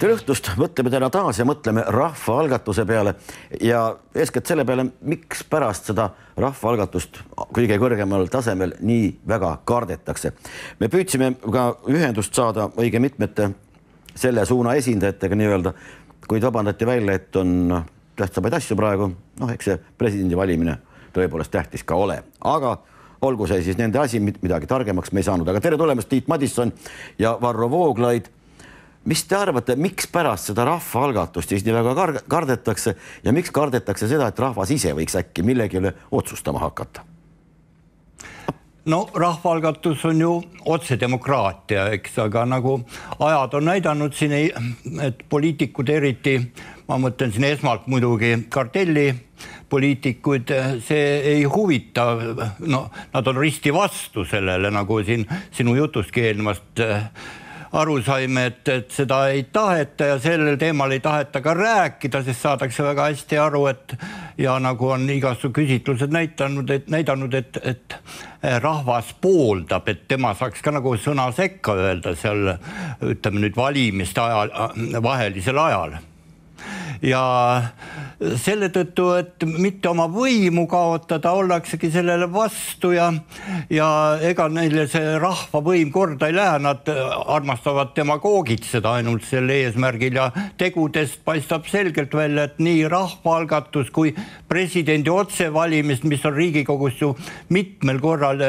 Tere õhtust, mõtleme täna taas ja mõtleme rahvaalgatuse peale ja eeskätt selle peale, miks pärast seda rahvaalgatust kõige kõrgemal tasemel nii väga kardetakse. Me püüdsime ka ühendust saada õige mitmete selle suuna esindajatega nii-öelda, kuid vabandati välja, et on tähtsamaid asju praegu, eks see presidendi valimine tõepoolest tähtis ka ole, aga olgu see siis nende asi, midagi targemaks me ei saanud. Aga tere tulemast, Tiit Madisson ja Varro Vooglaid. Mis te arvate, miks pärast seda rahvaalgatust siis nii väga kardetakse ja miks kardetakse seda, et rahvas ise võiks äkki millegi üle otsustama hakata? No rahvaalgatus on ju otsedemokraatia, eks, aga nagu ajad on näidanud siin, et poliitikud eriti, ma mõtlen siin esmalt muidugi kartellipoliitikuid, see ei huvita, nad on risti vastu sellele, nagu siin sinu jutustki eelnevast aru saime, et seda ei taheta ja sellel teemal ei taheta ka rääkida, sest saadakse väga hästi aru, et ja nagu on igasu küsitlused näidanud, et rahvas pooldab, et tema saaks ka nagu sõna sekka öelda seal, ütleme nüüd valimiste ajal, vahelisel ajal. Ja selle tõttu, et mitte oma võimu kaotada, ollaksegi sellele vastu ja ega neile see rahvavõim korda ei lähe, nad armastavad demagoogitseda ainult selle eesmärgil ja tegudest paistab selgelt välja, et nii rahvaalgatus kui presidendi otsevalimist, mis on Riigikogus ju mitmel korral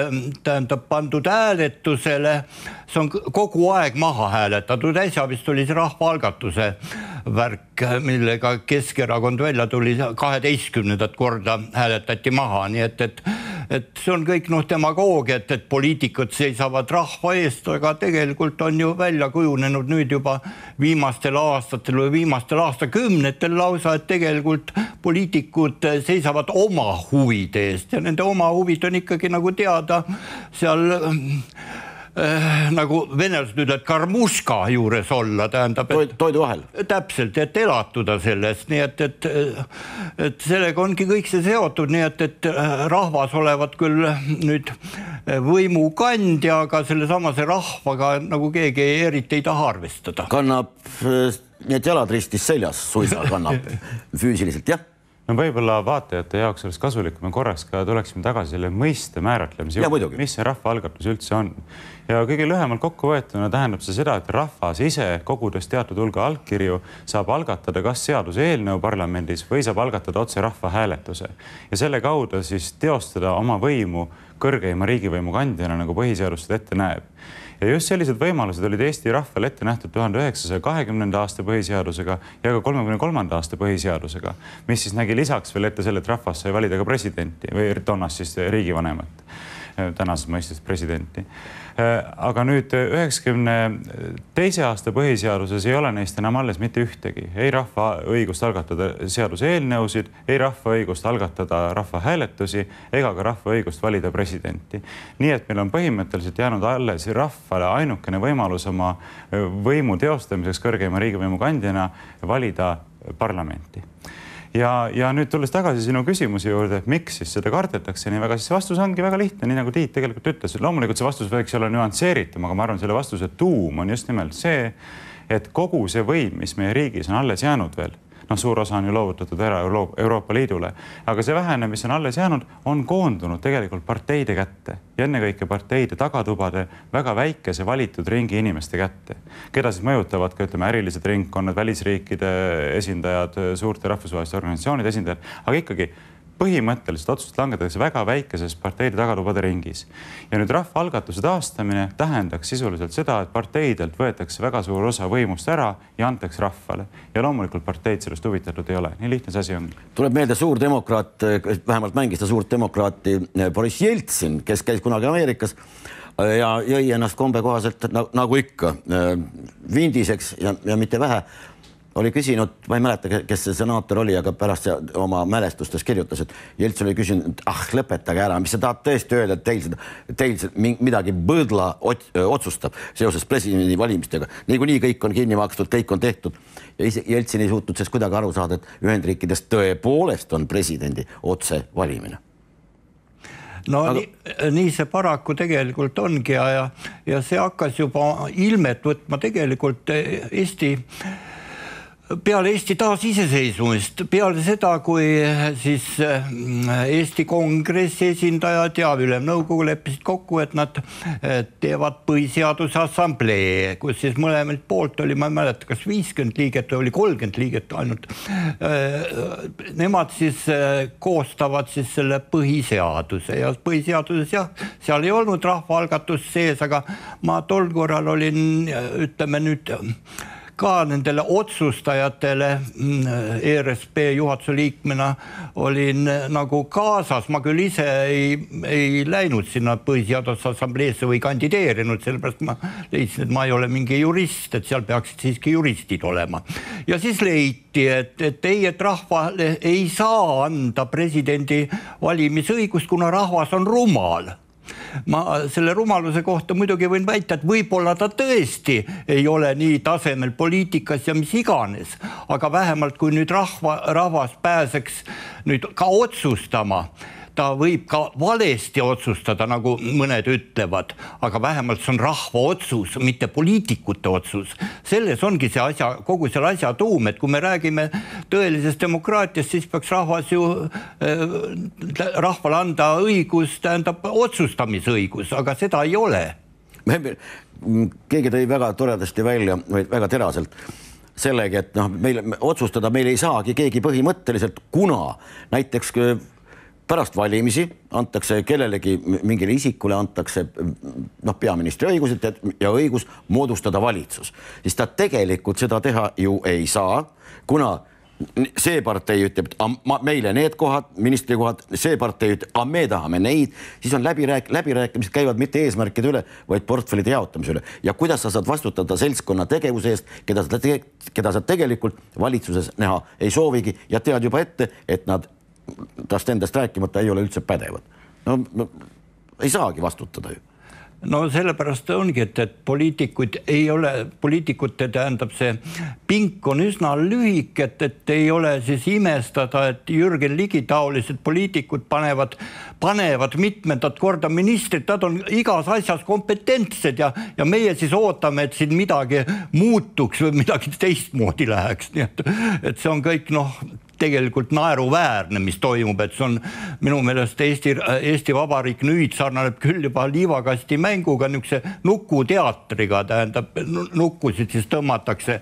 pandud hääletusele, see on kogu aeg maha hääletatud, äsja vist oli see rahvaalgatuse värk, millega Keskerakond välja tuli 12. korda hääletati maha, nii et see on kõik demagoogia, et poliitikud seisavad rahva eest, aga tegelikult on ju välja kujunenud nüüd juba viimastel aastatel või viimastel aastakümnetel lausa, et tegelikult poliitikud seisavad oma huvide eest ja nende oma huvid on ikkagi nagu teada seal nagu venelased ütlevad karmuška juures olla, tähendab, toidu vahel. Täpselt, et elatuda sellest, nii et sellega ongi kõik see seotud, nii et rahvas olevat küll nüüd võimukandja, aga selle samase rahvaga nagu keegi eriti ei taha arvestada. Kannab, need jalad ristis seljas suisa kannab füüsiliselt, jah? No võib-olla vaatajate jaoks oleks kasulik, kui me korraks ka tuleksime tagasi selle mõiste määratlemise juurde, mis see rahvaalgatus üldse on. Ja kõige lühemalt kokku võetuna tähendab see seda, et rahvas ise kogudes teatud hulga allkirju saab algatada kas seaduse eelnõu parlamendis või saab algatada otse rahvahääletuse. Ja selle kaudu siis teostada oma võimu kõrgeima riigivõimu kandjana, nagu põhiseadus seda ette näeb. Ja just sellised võimalused olid Eesti rahvale ette nähtud 1920. aasta põhiseadusega ja ka 33. aasta põhiseadusega, mis siis nägi lisaks veel ette selle, et rahvas sai valida ka presidenti või toonast siis riigivanemat, tänases mõistes presidenti. Aga nüüd 92. aasta põhiseaduses ei ole neist enam alles mitte ühtegi. Ei rahva õigust algatada seaduse eelnõusid, ei rahva õigust algatada rahvahääletusi ega ka rahva õigust valida presidenti. Nii et meil on põhimõtteliselt jäänud alles rahvale ainukene võimalus oma võimu teostamiseks kõrgeima riigivõimu kandjana valida parlamenti. Ja nüüd tulles tagasi sinu küsimuse juurde, et miks siis seda kardetakse nii väga, siis vastus ongi väga lihtne, nii nagu Tiit tegelikult ütles. Loomulikult see vastus võiks olla nüansseeritum, aga ma arvan, selle vastuse tuum on just nimelt see, et kogu see võim, mis meie riigis on alles jäänud veel, suur osa on ju loovutatud ära Euroopa Liidule, aga see vähene, mis on alles jäänud, on koondunud tegelikult parteide kätte ja ennekõike parteide tagatubade väga väikese valitud ringi inimeste kätte, keda siis mõjutavad ka, ütleme, ärilised ringkonnad, välisriikide esindajad, suurte rahvusvaheliste organisatsioonide esindajad, aga ikkagi põhimõtteliselt otsust langetatakse väga väikeses parteide tagatubade ringis. Ja nüüd rahvaalgatuse taastamine tähendaks sisuliselt seda, et parteidelt võetakse väga suur osa võimust ära ja antakse rahvale. Ja loomulikult parteid sellest huvitatud ei ole. Nii lihtne see asi on. Tuleb meelde suur demokraat, vähemalt mängis ta suurt demokraati Boris Jeltsin, kes käis kunagi Ameerikas ja jõi ennast kombe kohaselt nagu ikka vindiseks ja mitte vähe. Oli küsinud, ma ei mäleta, kes see senaator oli, aga pärast oma mälestustes kirjutas, et Jeltsin oli küsinud, lõpetage ära, mis sa tahad tõesti öelda, et teil midagi põdla otsustab seoses presidendi valimistega. Niikuinii kõik on kinni makstud, kõik on tehtud. Ja Jeltsin ei suutnud sellest kuidagi aru saada, et Ühendriikides tõepoolest on presidendi otse valimine. No nii see paraku tegelikult ongi ja see hakkas juba ilmet võtma tegelikult Eesti peale Eesti taasiseseisvumist, peale seda, kui siis Eesti Kongressi esindajad ja Ülemnõukogu leppisid kokku, et nad teevad põhiseaduse assamblee, kus siis mõlemalt poolt oli, ma ei mäleta, kas 50 liiget või oli 30 liiget ainult. Nemad siis koostavad siis selle põhiseaduse ja põhiseaduses jah, seal ei olnud rahvaalgatus sees, aga ma tol korral olin, ütleme nüüd, ka nendele otsustajatele ERSP juhatuse liikmena olin nagu kaasas, ma küll ise ei läinud sinna põhiseaduse assambleesse või kandideerinud, sellepärast ma leidsin, et ma ei ole mingi jurist, et seal peaksid siiski juristid olema. Ja siis leiti, et rahvale ei saa anda presidendi valimisõigust, kuna rahvas on rumal. Ma selle rumaluse kohta muidugi võin väita, et võib-olla ta tõesti ei ole nii tasemel poliitikas ja mis iganes, aga vähemalt kui nüüd rahvas pääseks nüüd ka otsustama, ta võib ka valesti otsustada, nagu mõned ütlevad, aga vähemalt see on rahva otsus, mitte poliitikute otsus. Selles ongi see asja, kogu selle asja tuum, et kui me räägime tõelisest demokraatiast, siis peaks rahvas ju rahvale anda õigus, tähendab otsustamisõigus, aga seda ei ole. Keegi tõi väga toredasti välja, või väga teraselt, sellegi, et otsustada meil ei saagi keegi põhimõtteliselt, kuna näiteks pärast valimisi antakse kellelegi mingile isikule antakse peaministri õigused ja õigus moodustada valitsus. Siis ta tegelikult seda teha ju ei saa, kuna see partei ütleb, et meile need kohad, ministri kohad, see partei ütleb, et me tahame neid, siis on läbirääkimised käivad mitte eesmärkide üle, vaid portfellide jaotamise üle. Ja kuidas sa saad vastutada seltskonna tegevuse eest, keda sa tegelikult valitsuses näha ei soovigi ja tead juba ette, et nad tast endast rääkimata ei ole üldse pädevad. No ei saagi vastutada ju. No sellepärast ongi, et poliitikuid ei ole, poliitikute tähendab see pink on üsna lühik, et ei ole siis imestada, et Jürgen Ligi taolised poliitikud panevad mitmendat korda ministrit, nad on igas asjas kompetentsed ja meie siis ootame, et siin midagi muutuks või midagi teistmoodi läheks. Nii et see on kõik tegelikult naeruväärne, mis toimub, et see on minu meelest Eesti Vabariik nüüd sarnaneb küll juba liivakasti mänguga, niisuguse nukuteatriga, tähendab, nukkusid siis tõmmatakse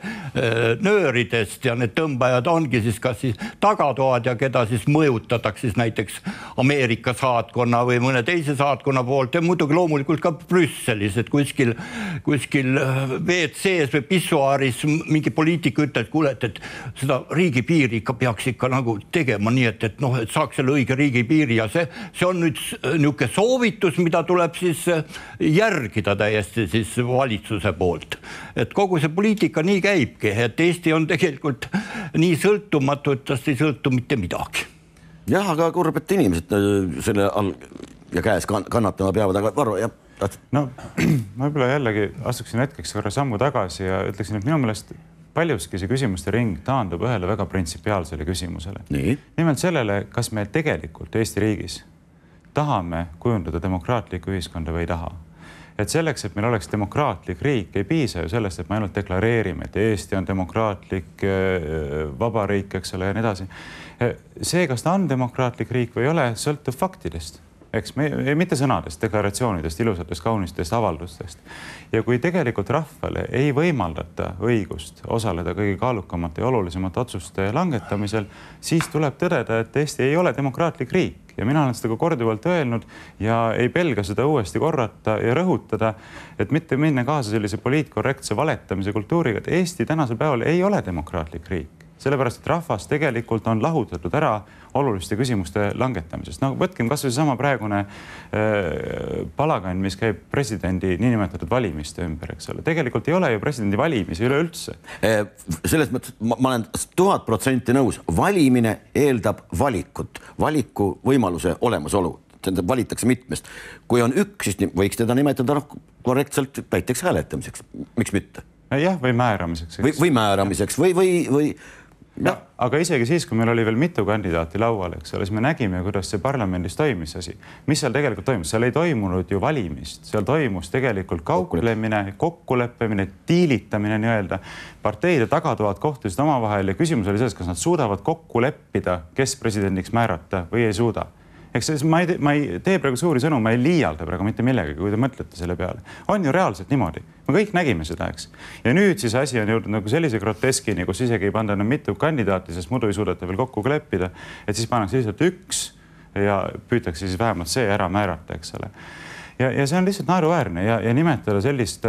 nööridest ja need tõmbajad ongi siis kas siis tagatoad ja keda siis mõjutatakse siis näiteks Ameerika saatkonna või mõne teise saatkonna poolt ja muidugi loomulikult ka Brüsselis, et kuskil WC-s või pissuaaris mingi poliitik ütleb, et kuule, et seda riigipiiri ikka peaks ikka nagu tegema nii, et saaks selle õige riigipiiri ja see on nüüd niisugune soovitus, mida tuleb siis järgida täiesti siis valitsuse poolt. Et kogu see poliitika nii käibki, et Eesti on tegelikult nii sõltumatu, et tast ei sõltu mitte midagi. Jah, aga kurb, et inimesed selle all ja käes kannatama peavad, aga Varro, jah. No, ma võib-olla jällegi astuksin hetkeks korra sammu tagasi ja ütleksin, et minu meelest paljuski see küsimuste ring taandub ühele väga printsipiaalsele küsimusele. Nimelt sellele, kas me tegelikult Eesti riigis tahame kujundada demokraatlikku ühiskonda või ei taha. Et selleks, et meil oleks demokraatlik riik, ei piisa ju sellest, et me ainult deklareerime, et Eesti on demokraatlik vabariik, eks ole, ja nii edasi. See, kas ta on demokraatlik riik või ei ole, sõltub faktidest. Eks mitte sõnadest, deklaratsioonidest, ilusatest, kaunistest avaldustest. Ja kui tegelikult rahvale ei võimaldata õigust osaleda kõige kaalukamate ja olulisemate otsuste langetamisel, siis tuleb tõdeda, et Eesti ei ole demokraatlik riik. Ja mina olen seda korduvalt öelnud ja ei pelga seda uuesti korrata ja rõhutada, et mitte minna kaasa sellise poliitkorrektse valetamise kultuuriga, et Eesti tänasel päeval ei ole demokraatlik riik. Sellepärast, et rahvas tegelikult on lahutatud ära oluliste küsimuste langetamisest. No võtkem kas või sama praegune palagan, mis käib presidendi niinimetatud valimiste ümber, eks ole. Tegelikult ei ole ju presidendi valimisi üleüldse. Selles mõttes ma olen 1000% nõus. Valimine eeldab valikut, valiku võimaluse olemasolu. Valitakse mitmest. Kui on üks, siis võiks teda nimetada korrektselt näiteks hääletamiseks. Miks mitte? Jah, või määramiseks. Või määramiseks või Aga isegi siis, kui meil oli veel mitu kandidaati laual, eks ole, siis me nägime, kuidas see parlamendis toimis asi. Mis seal tegelikult toimus? Seal ei toimunud ju valimist. Seal toimus tegelikult kauplemine, kokkuleppimine, tiilitamine nii-öelda. Parteide tagatoad kohtusid omavahel ja küsimus oli selles, kas nad suudavad kokku leppida, kes presidendiks määrata või ei suuda. Eks ma ei tee praegu suuri sõnu, ma ei liialda praegu mitte millegagi, kui te mõtlete selle peale. On ju reaalselt niimoodi. Me kõik nägime seda, eks. Ja nüüd siis asi on jõudnud nagu sellise groteskini, kus isegi ei panda enam mitu kandidaati, sest muidu ei suudeta veel kokku leppida, et siis pannakse lihtsalt üks ja püütakse siis vähemalt see ära määrata, eks ole. Ja see on lihtsalt naeruväärne ja nimetada sellist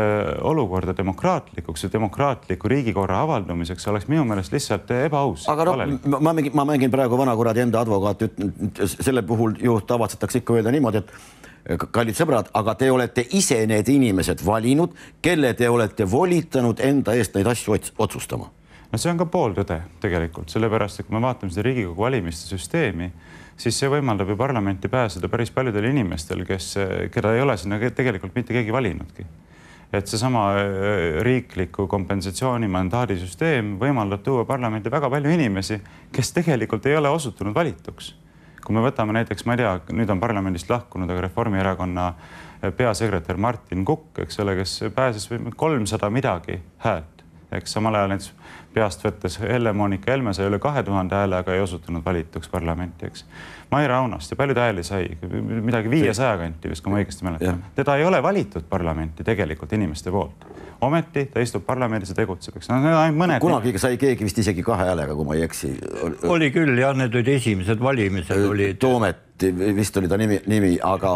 olukorda demokraatlikuks ja demokraatliku riigikorra avaldumiseks oleks minu meelest lihtsalt ebaaus. Aga ma mängin praegu vanakuradi enda advokaat, selle puhul ju tavatsetakse ikka öelda niimoodi, et kallid sõbrad, aga te olete ise need inimesed valinud, kelle te olete volitanud enda eest neid asju otsustama. No see on ka pooltõde tegelikult, sellepärast, et kui me vaatame seda Riigikogu valimiste süsteemi, siis see võimaldab ju parlamenti pääseda päris paljudel inimestel, keda ei ole sinna tegelikult mitte keegi valinudki. Et seesama riikliku kompensatsiooni mandaadisüsteem võimaldab tuua parlamenti väga palju inimesi, kes tegelikult ei ole osutunud valituks. Kui me võtame näiteks, ma ei tea, nüüd on parlamendist lahkunud, aga Reformierakonna peasekretär Martin Kukk, eks ole, kes pääses 300 midagi häält. Eks samal ajal näiteks peast võttes Helle-Moonika Helme sai üle 2000 hääle, aga ei osutunud valituks parlamenti, eks. Maire Aunast ja paljud hääli sai, midagi 500 kanti, vist kui ma õigesti mäletan. Teda ei ole valitud parlamenti tegelikult inimeste poolt. Ometi ta istub parlamendis ja tegutseb, eks. Kunagi sai keegi vist isegi 2 häälega, kui ma ei eksi. Oli küll, jah, need olid esimesed valimised. Toomet vist oli ta nimi, aga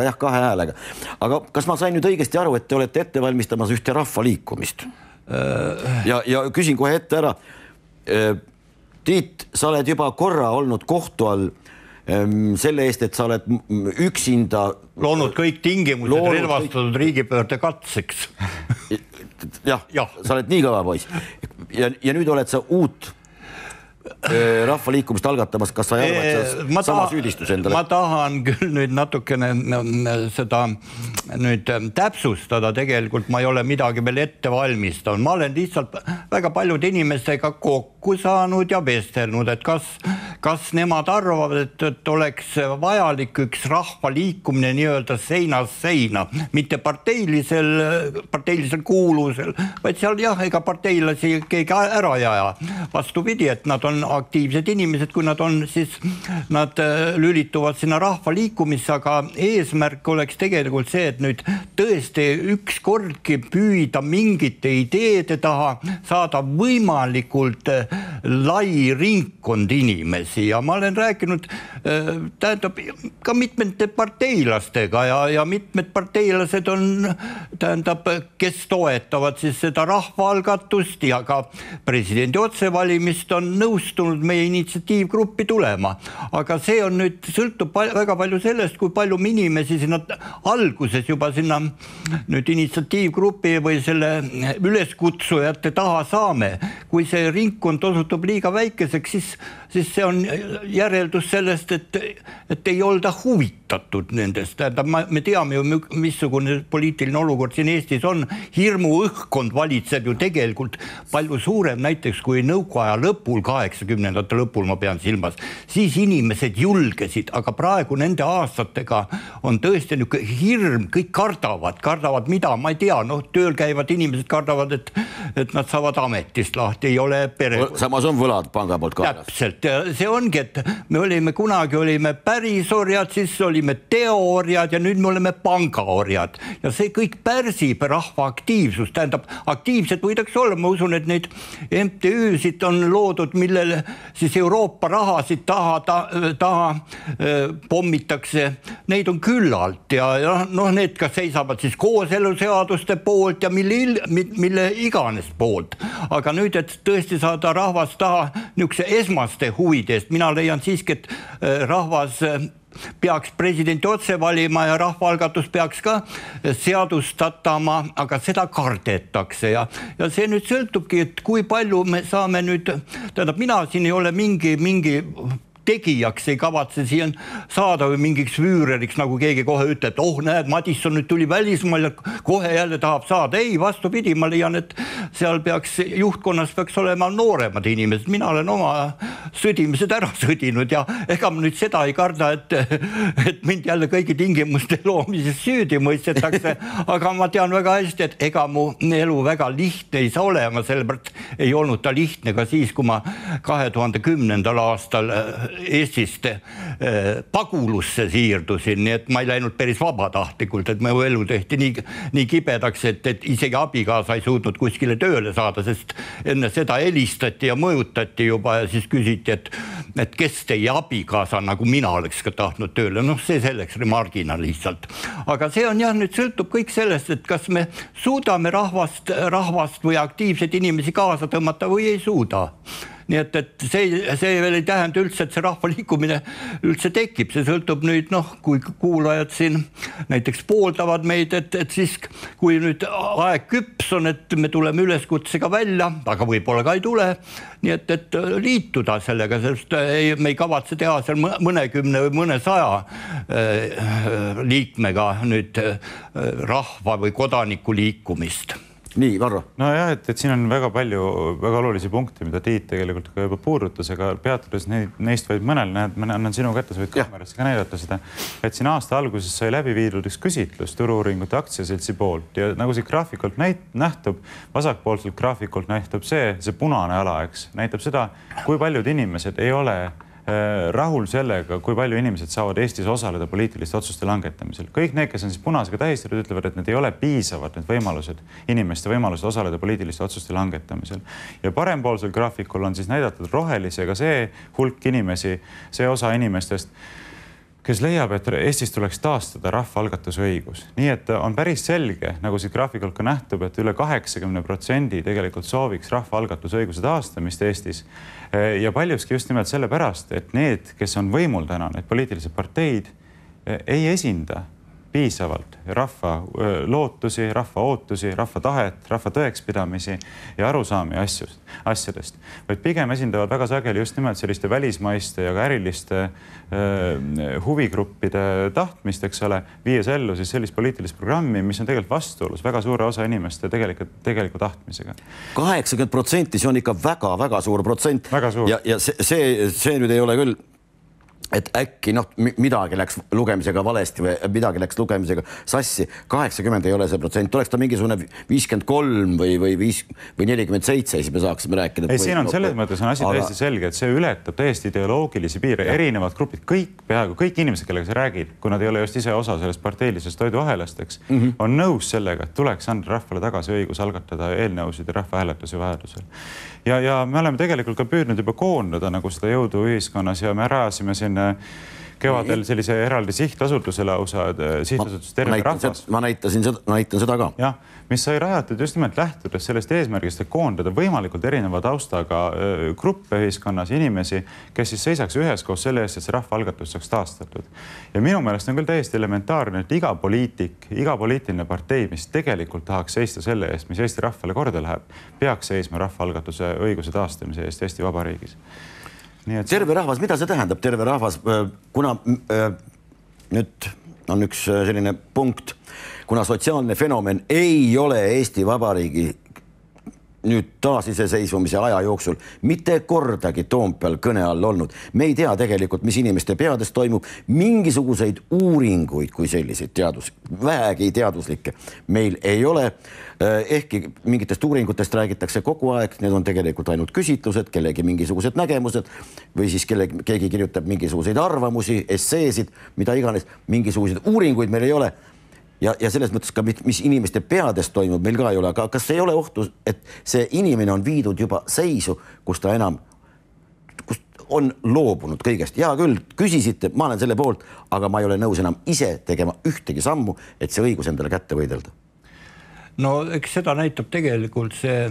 jah, 2 häälega. Aga kas ma sain nüüd õigesti aru, et te olete ette valmistamas ühte rahvaliikumist? Ja küsin kohe ette ära. Tiit, sa oled juba korra olnud kohtu all selle eest, et sa oled üksinda loonud kõik tingimused relvastatud riigipöörde katseks. Jah, sa oled nii kõva poiss. Ja nüüd oled sa uut rahvaliikumist algatamas, kas sa ei arva, et sama süüdistus endale? Ma tahan küll nüüd natukene seda nüüd täpsustada, tegelikult ma ei ole midagi veel ette valmistanud. Ma olen lihtsalt väga paljude inimestega kokku saanud ja vestelnud, et kas nemad arvavad, et oleks vajalik üks rahvaliikumine nii-öelda seinast seina, mitte parteilisel kuulusel, vaid seal jah, ega parteilasi keegi ära jaja. Vastupidi, et nad on aktiivsed inimesed, kui nad on, siis nad lülituvad sinna rahvaliikumisse, aga eesmärk oleks tegelikult see, et nüüd tõesti ükskordki püüda mingite ideede taha saada võimalikult lai ringkond inimesi ja ma olen rääkinud tähendab ka mitmete parteilastega ja mitmed parteilased on tähendab, kes toetavad siis seda rahvaalgatust ja ka presidendi otsevalimist on nõustunud meie initsiatiivgruppi tulema. Aga see on nüüd, sõltub väga palju sellest, kui palju inimesi sinna alguses juba sinna nüüd initsiatiivgrupi või selle üleskutsujate taha saame. Kui see ringkond osutub liiga väikeseks, siis see on järeldus sellest, et ei olda huvitatud nendest. Me teame ju, missugune poliitiline olukord siin Eestis on. Hirmu õhkkond valitseb ju tegelikult palju suurem näiteks kui nõukoaja lõpul, 80ndate lõpul ma pean silmas. Siis inimesed julgesid, aga praegu nende aastatega on tõesti hirm, kõik kardavad mida, ma ei tea, tööl käivad inimesed kardavad, et nad saavad ametist lahti, ei ole pere. Samas on võlad panga poolt kaelas. Täpselt, see ongi, et me kunagi olime pärisorjad, siis olime teooriad ja nüüd me oleme pangaorjad ja see kõik pärsib rahva aktiivsust, tähendab, aktiivsed võidaks olla, ma usun, et neid MTÜ-sid on loodud, millele siis Euroopa rahasid taha pommitakse, neid on küllalt ja need kas seisavad siis kooseluseaduste poolt ja mille iganes poolt. Aga nüüd, et tõesti saada rahvast taha niisuguse esmaste huvidest, mina leian siiski, et rahvas peaks presidenti otse valima ja rahvaalgatus peaks ka seadustatama, aga seda kardetakse ja see nüüd sõltubki, et kui palju me saame nüüd, tähendab, mina siin ei ole mingi tegijaks ei kavatse siin saada või mingiks füüreriks, nagu keegi kohe ütleb, et näed, Madisson nüüd tuli välismaal ja kohe jälle tahab saada. Ei, vastupidi, ma leian, et seal juhtkonnas peaks olema nooremad inimesed. Mina olen oma sõdimised ära sõdinud ja ega ma nüüd seda ei karda, et mind jälle kõigi tingimuste loomises süüdi mõistetakse, aga ma tean väga hästi, et ega mu elu väga lihtne ei saa olema, sellepärast ei olnud ta lihtne ka siis, kui ma 2010. aastal Eestist pagulusse siirdusin, nii et ma ei läinud päris vabatahtlikult, et mu elu tehti nii kibedaks, et isegi abikaasa ei suutnud kuskile tööle saada, sest enne seda helistati ja mõjutati juba ja siis küsiti, et kes teie abikaasa, nagu mina oleks ka tahtnud tööle. See selleks remargina lihtsalt. Aga see on jah, nüüd sõltub kõik sellest, et kas me suudame rahvast või aktiivseid inimesi kaasa tõmmata või ei suuda. Nii et see veel ei tähenda üldse, et see rahvaliikumine üldse tekib. See sõltub nüüd, kui kuulajad siin näiteks pooldavad meid, et siis kui nüüd aeg küps on, et me tuleme üleskutsega välja, aga võib-olla ka ei tule, nii et liituda sellega, sest me ei kavatse teha seal mõnekümne või mõnesaja liikmega nüüd rahva või kodaniku liikumist. Nii, Varro. No jah, et siin on väga palju väga olulisi punkte, mida Tiit tegelikult ka juba puudutas, aga peatudes neist vaid mõnel, ma annan sinu kätte, sa võid kaamerasse ka näidata seda, et siin aasta alguses sai läbi viidud üks küsitlus Turu-uuringute aktsiaseltsi poolt ja nagu see graafikult nähtub, vasakpoolselt graafikult nähtub see punane ala, eks, näitab seda, kui paljud inimesed ei ole rahul sellega, kui palju inimesed saavad Eestis osaleda poliitiliste otsuste langetamisel. Kõik need, kes on siis punasega tähistatud, ütlevad, et need ei ole piisavad, need võimalused, inimeste võimalused osaleda poliitiliste otsuste langetamisel. Ja parempoolsel graafikul on siis näidatud rohelisega see hulk inimesi, see osa inimestest, kes leiab, et Eestis tuleks taastada rahvaalgatuse õigus. Nii et on päris selge, nagu siit graafikult ka nähtub, et üle 80% tegelikult sooviks rahvaalgatuse õiguse taastamist Eestis. Ja paljuski just nimelt sellepärast, et need, kes on võimul täna, need poliitilised parteid, ei esinda piisavalt rahva lootusi, rahva ootusi, rahva tahet, rahva tõekspidamisi ja arusaami asjadest, vaid pigem esindavad väga sageli just nimelt selliste välismaiste ja ka äriliste huvigruppide tahtmist, eks ole, viies ellu siis sellist poliitilist programmi, mis on tegelikult vastuolus väga suure osa inimeste tegeliku tahtmisega. 80%, see on ikka väga-väga suur protsent. Ja see nüüd ei ole küll, et äkki midagi läks lugemisega valesti või midagi läks lugemisega sassi. 80 ei ole see protsent. Oleks ta mingisugune 53 või 47, siis me saaksime rääkida. Ei, siin on selles mõttes on asi täiesti selge, et see ületab täiesti ideoloogilisi piire. Erinevad grupid, peaaegu kõik inimesed, kellega sa räägid, kui nad ei ole just ise osa sellest parteilisest toiduahelast, eks, on nõus sellega, et tuleks anda rahvale tagasi õigus algatada eelnõusid ja rahvahääletusi vajadusel. Ja me oleme tegelikult ka püüdnud juba koondada nagu seda jõudu ühiskonnas ja me rajasime siin kevadel sellise eraldi sihtasutusele lausa sihtasutus Terve Rahvas. Ma näitan seda ka. Jah, mis sai rajatud just nimelt lähtudes sellest eesmärgist, et koondada võimalikult erineva taustaga gruppe ühiskonnas, inimesi, kes siis seisaks üheskoos selle eest, et see rahvaalgatus saaks taastatud. Ja minu meelest on küll täiesti elementaarne, et iga poliitik, iga poliitiline partei, mis tegelikult tahaks seista selle eest, mis Eesti rahvale korda läheb, peaks seisma rahvaalgatuse õiguse taastamise eest Eesti Vabariigis. Terve rahvas, mida see tähendab, terve rahvas, kuna nüüd on üks selline punkt, kuna sotsiaalne fenomen ei ole Eesti Vabariigi nüüd taasiseseisvumise aja jooksul mitte kordagi Toompeal kõne all olnud. Me ei tea tegelikult, mis inimeste peades toimub, mingisuguseid uuringuid kui selliseid vähegi teaduslikke meil ei ole. Ehkki mingitest uuringutest räägitakse kogu aeg, need on tegelikult ainult küsitlused, kellegi mingisugused nägemused või siis keegi kirjutab mingisuguseid arvamusi, esseesid, mida iganes, mingisuguseid uuringuid meil ei ole. Ja selles mõttes ka, mis inimeste peades toimub, meil ka ei ole. Aga kas ei ole ohtu, et see inimene on viidud juba seisu, kus ta enam on loobunud kõigest? Ja küll, küsisite, ma olen selle poolt, aga ma ei ole nõus enam ise tegema ühtegi sammu, et see õigus endale kätte võidelda. No eks seda näitab tegelikult see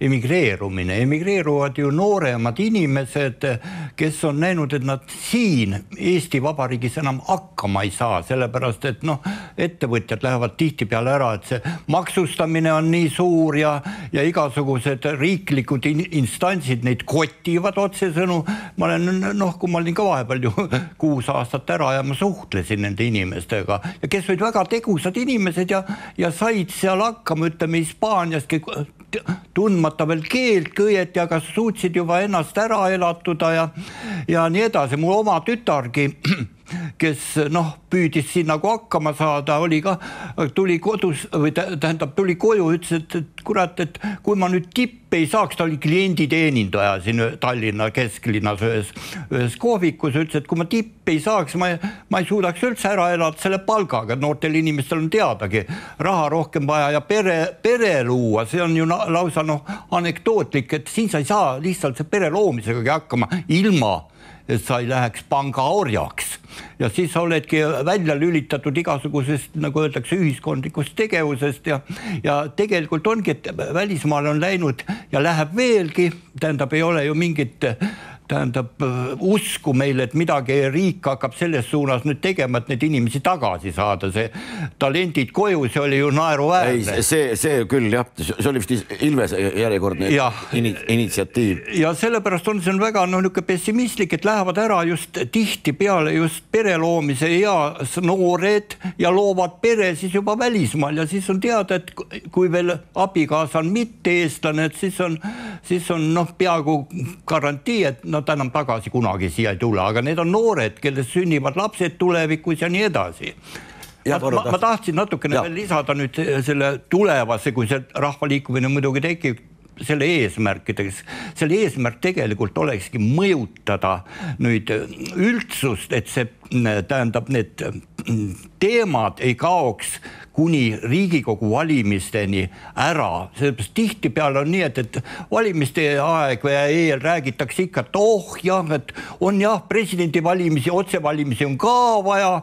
emigreerumine. Emigreeruvad ju nooremad inimesed, kes on näinud, et nad siin Eesti Vabariigis enam hakkama ei saa, sellepärast et ettevõtjad lähevad tihtipeale ära, et see maksustamine on nii suur ja igasugused riiklikud instantsid neid kotivad otsesõnu. Ma olen, kui ma olin ka vahepeal ju 6 aastat ära ja ma suhtlesin nende inimestega ja kes olid väga tegusad inimesed ja said seal hakkama, ütleme Hispaaniaski tundmata veel keelt kõieti, aga suutsid juba ennast ära elatuda ja nii edasi. Mul oma tütargi, kes püüdis siin nagu hakkama saada, tuli kodus või tuli koju, ütles, et kurat, et kui ma nüüd tippe ei saaks, ta oli klienditeenindaja siin Tallinna kesklinnas ühes kohvikus, ütles, et kui ma tippe ei saaks, ma ei suudaks üldse ära elada selle palgaga, noortel inimestel on teadagi raha rohkem vaja ja pere luua, see on ju lausa anekdootlik, et siin sa ei saa lihtsalt see pere loomisegagi hakkama ilma, et sa ei läheks panga orjaks. Ja siis sa oledki välja lülitatud igasugusest, nagu öeldakse, ühiskondlikust tegevusest ja tegelikult ongi, et välismaale on läinud ja läheb veelgi, tähendab, ei ole ju mingit usku meile, et midagi riik hakkab selles suunas nüüd tegema, et need inimesi tagasi saada, see talendid koju, see oli ju naeruväärne. Ei, see küll jah, see oli vist Ilves järjekordne initsiatiiv. Ja sellepärast on see väga pessimistlik, et lähevad ära just tihti peale just pere loomise eas noored ja loovad pere siis juba välismaal ja siis on teada, et kui veel abikaasa on mitte eestlane, et siis on peaaegu garantii, et nad enam tagasi kunagi siia ei tule, aga need on noored, kelles sünnivad lapsed tulevikus ja nii edasi. Ma tahtsin natukene veel lisada nüüd selle tulevase, kui see rahvaliikumine muidugi tekib, selle eesmärkideks. Selle eesmärk tegelikult olekski mõjutada nüüd üldsust, et see tähendab need teemad ei kaoks kuni Riigikogu valimisteni ära. Sellepärast tihtipeale on nii, et valimiste aeg või eel räägitakse ikka, et et on presidendi valimisi, otsevalimisi on ka vaja.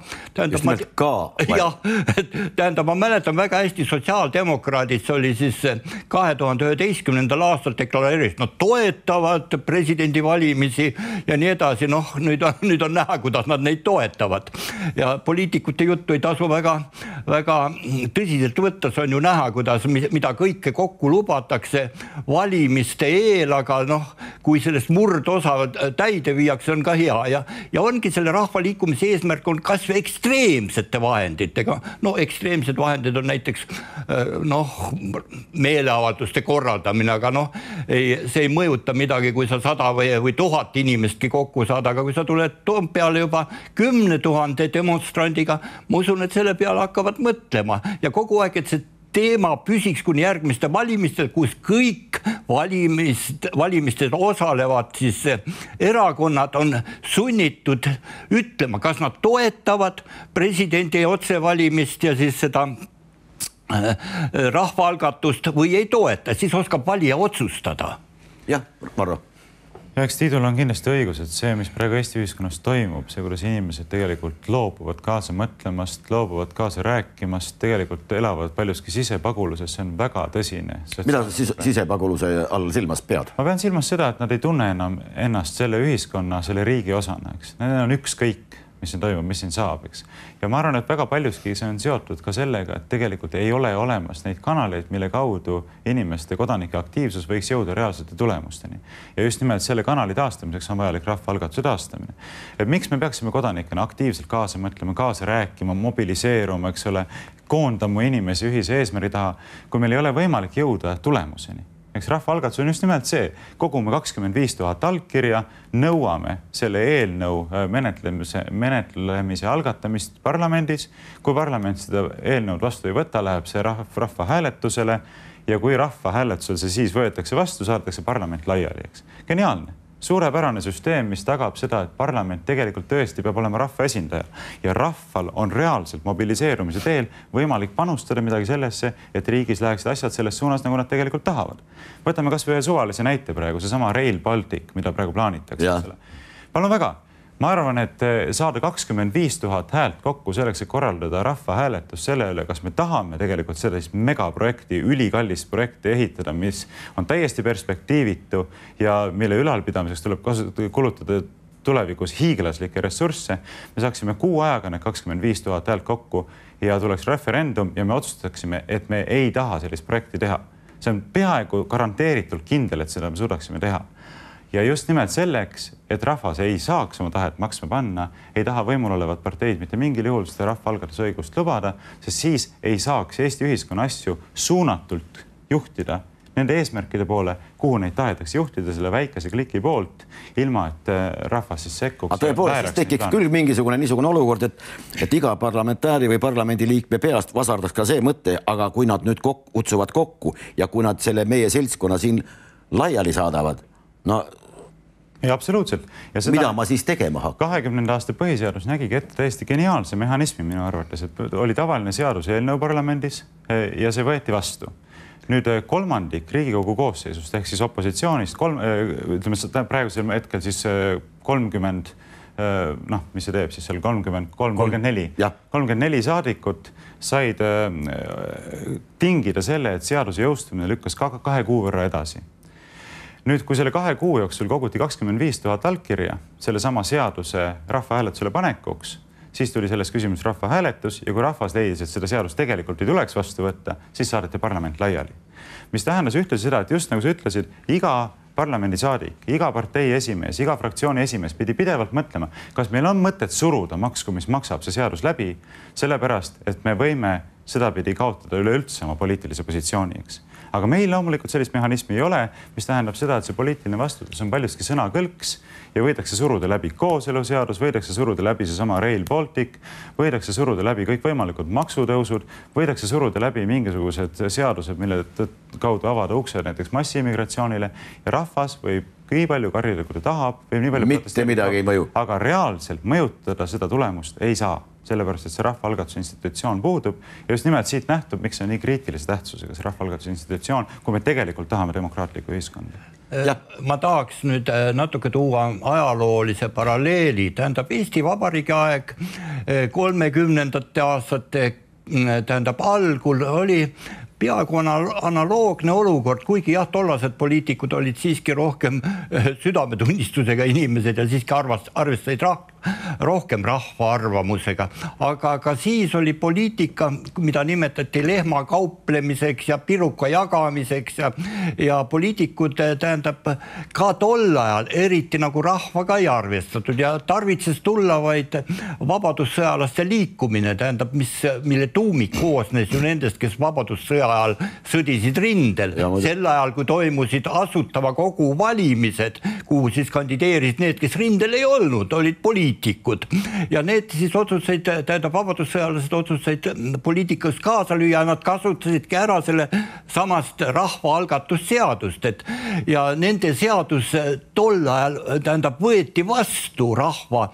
Tähendab, ma mäletan väga hästi sotsiaaldemokraadid, see oli siis 2011. aastal deklareeris, nad toetavad presidendi valimisi ja nii edasi. Nüüd on näha, kuidas nad neid toetavad. Ja poliitikute juttu ei tasu väga tõsiselt võtta, see on ju näha, mida kõike kokku lubatakse valimiste eel, aga kui sellest murdosa täide viiakse, on ka hea. Ja ongi selle rahvaliikumise eesmärk on kas või ekstreemsete vahenditega. Ekstreemsed vahendid on näiteks meeleavalduste korraldamine, aga see ei mõjuta midagi, kui sa 100 või 1000 inimestki kokku saada, aga kui sa tuled Toompeale juba 10 000 demonstrandiga, ma usun, et selle peale hakkavad mõtlema. Ja kogu aeg, et see teema püsiks kuni järgmiste valimistel, kus kõik valimistel osalevad, siis erakonnad on sunnitud ütlema, kas nad toetavad presidendi otsevalimist ja siis seda rahvaalgatust või ei toeta, siis oskab valija otsustada. Jah, Marro. Eks Tiidul on kindlasti õigus, et see, mis praegu Eesti ühiskonnas toimub, see, kuidas inimesed tegelikult loobuvad kaasa mõtlemast, loobuvad kaasa rääkimast, tegelikult elavad paljuski sisepaguluses, see on väga tõsine. Mida sa sisepaguluse all silmas pead? Ma pean silmas seda, et nad ei tunne enam ennast selle ühiskonna, selle riigi osana, eks. Need on ükskõik, mis siin toimub, mis siin saab, eks. Ja ma arvan, et väga paljuski see on seotud ka sellega, et tegelikult ei ole olemas neid kanaleid, mille kaudu inimeste kodanike aktiivsus võiks jõuda reaalsete tulemusteni. Ja just nimelt selle kanali taastamiseks on vajalik rahvaalgatuse taastamine. Et miks me peaksime kodanikena aktiivselt kaasa mõtlema, kaasa rääkima, mobiliseeruma, eks ole, koondama inimesi ühise eesmärgi taha, kui meil ei ole võimalik jõuda tulemuseni. Eks rahvaalgatus on just nimelt see, kogume 25 000 allkirja, nõuame selle eelnõu menetlemise algatamist parlamendis. Kui parlament seda eelnõud vastu ei võta, läheb see rahvahääletusele ja kui rahvahääletusel see siis võetakse vastu, saadakse parlament laiali, eks. Geniaalne. Suurepärane süsteem, mis tagab seda, et parlament tegelikult tõesti peab olema rahva esindaja ja rahval on reaalselt mobiliseerumise teel võimalik panustada midagi sellesse, et riigis läheksid asjad selles suunas, nagu nad tegelikult tahavad. Võtame kas või ühe suvalise näite praegu, see sama Rail Baltic, mida praegu plaanitakse. Palun väga. Ma arvan, et saada 25 000 häält kokku selleks, et korraldada rahvahääletus selle üle, kas me tahame tegelikult sellist megaprojekti, ülikallist projekti ehitada, mis on täiesti perspektiivitu ja mille ülalpidamiseks tuleb kulutada tulevikus hiiglaslikke ressursse. Me saaksime kuu ajaga need 25 000 häält kokku ja tuleks referendum ja me otsustaksime, et me ei taha sellist projekti teha. See on peaaegu garanteeritult kindel, et seda me suudaksime teha. Ja just nimelt selleks, et rahvas ei saaks oma tahet maksma panna, ei taha võimul olevat parteid mitte mingil juhul seda rahvaalgatusõigust lubada, sest siis ei saaks Eesti ühiskonna asju suunatult juhtida nende eesmärkide poole, kuhu neid tahetakse juhtida selle väikese kliki poolt, ilma et rahvas siis sekkuks. Aga tõepoolest, siis tekiks küll mingisugune niisugune olukord, et iga parlamentääri või parlamendiliikme peast vasardaks ka see mõte, aga kui nad nüüd kutsuvad kokku ja kui nad selle meie seltskonna siin laiali saadavad, no ja absoluutselt. Ja seda mida ma siis tegema hakkan? 20. aasta põhiseadus nägigi ette täiesti geniaalse mehhanismi minu arvates, et oli tavaline seaduseelnõu parlamendis ja see võeti vastu. Nüüd kolmandik Riigikogu koosseisust ehk siis opositsioonist, ütleme praegusel hetkel siis 30, mis see teeb siis seal 34 saadikut said tingida selle, et seaduse jõustumine lükkas 2 kuu võrra edasi. Nüüd, kui selle 2 kuu jooksul koguti 25 000 allkirja selle sama seaduse rahvahääletusele panekuks, siis tuli selles küsimus rahvahääletus ja kui rahvas leidis, et seda seadust tegelikult ei tuleks vastu võtta, siis saadeti parlament laiali. Mis tähendas ühtlasi seda, et just nagu sa ütlesid, iga parlamendisaadik, iga partei esimees, iga fraktsiooni esimees pidi pidevalt mõtlema, kas meil on mõtet suruda maksku, mis maksab see seadus läbi, sellepärast, et me võime sedapidi kaotada üleüldse oma poliitilise positsiooni, eks. Aga meil loomulikult sellist mehhanismi ei ole, mis tähendab seda, et see poliitiline vastutus on paljuski sõnakõlks ja võidakse suruda läbi kooseluseadus, võidakse suruda läbi see sama Rail Baltic, võidakse suruda läbi kõik võimalikud maksutõusud, võidakse suruda läbi mingisugused seadused, mille kaudu avada ukse näiteks massiimmigratsioonile ja rahvas võib nii palju karjuda, kui ta tahab, või nii palju mitte midagi ei mõju. Aga reaalselt mõjutada seda tulemust ei saa, sellepärast, et see rahvaalgatuse institutsioon puudub ja just nimelt siit nähtub, miks see on nii kriitilise tähtsusega see rahvaalgatuse institutsioon, kui me tegelikult tahame demokraatlikku ühiskonda. Ma tahaks nüüd natuke tuua ajaloolise paralleeli, tähendab Eesti Vabariigi aeg 30. aastate algul oli peaaegu analoogne olukord, kuigi jah, tollased poliitikud olid siiski rohkem südametunnistusega inimesed ja siiski arvestasid rohkem rahva arvamusega. Aga ka siis oli poliitika, mida nimetati lehma kauplemiseks ja piruka jagamiseks ja poliitikud tähendab ka tol ajal eriti nagu rahvaga ei arvestatud ja tarvitses tulla vaid vabadussõjalaste liikumine, tähendab, mille tuumik koosnes ju nendest, kes vabadussõja ajal sõdisid rindel. Sel ajal, kui toimusid Asutava Kogu valimised, kuhu siis kandideerisid need, kes rindel ei olnud, olid poliitikud. Ja need siis otsuseid, tähendab vabadussõjalased otsuseid poliitikas kaasa lüüa, nad kasutasidki ära selle samast rahvaalgatusseadust. Ja nende seadus tol ajal, tähendab, võeti vastu rahva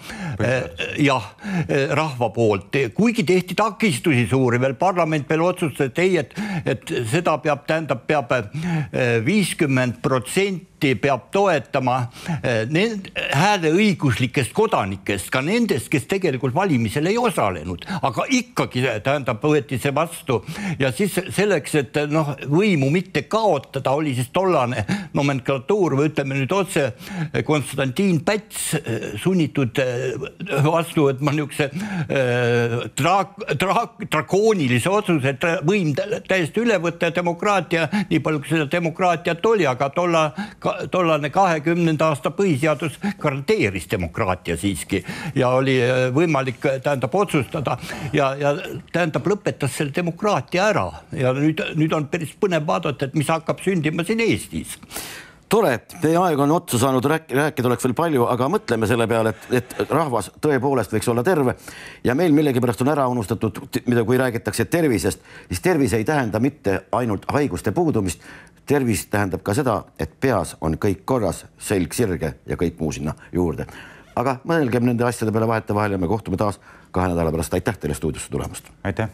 poolt. Kuigi tehti takistusi suuri, veel parlament veel otsustas, et seda peab 50% peab toetama hääleõiguslikest kodanikest, ka nendest, kes tegelikult valimisel ei osalenud, aga ikkagi tähendab võeti see vastu ja siis selleks, et võimu mitte kaotada, oli siis tollane nomenklatuur või ütleme nüüd otse Konstantin Päts sunnitud vastu võtma niisuguse drakoonilise otsuse, et võim täiesti üle võtta ja demokraatia, nii palju kui seda demokraatiat oli, aga tollane 20. aasta põhiseadus garanteeris demokraatia siiski ja oli võimalik tähendab otsustada ja tähendab lõpetas selle demokraatia ära ja nüüd on päris põnev vaadata, et mis hakkab sündima siin Eestis. Tore, teie aeg on otsa saanud, rääkida oleks veel palju, aga mõtleme selle peale, et rahvas tõepoolest võiks olla terve ja meil millegipärast on ära unustatud, mida kui räägitakse tervisest, siis tervis ei tähenda mitte ainult haiguste puudumist, tervis tähendab ka seda, et peas on kõik korras, selg sirge ja kõik muu sinna juurde. Aga mõelgem nende asjade peale vahetevahel ja me kohtume taas 2 nädala pärast. Aitäh teile stuudiosse tulemast. Aitäh.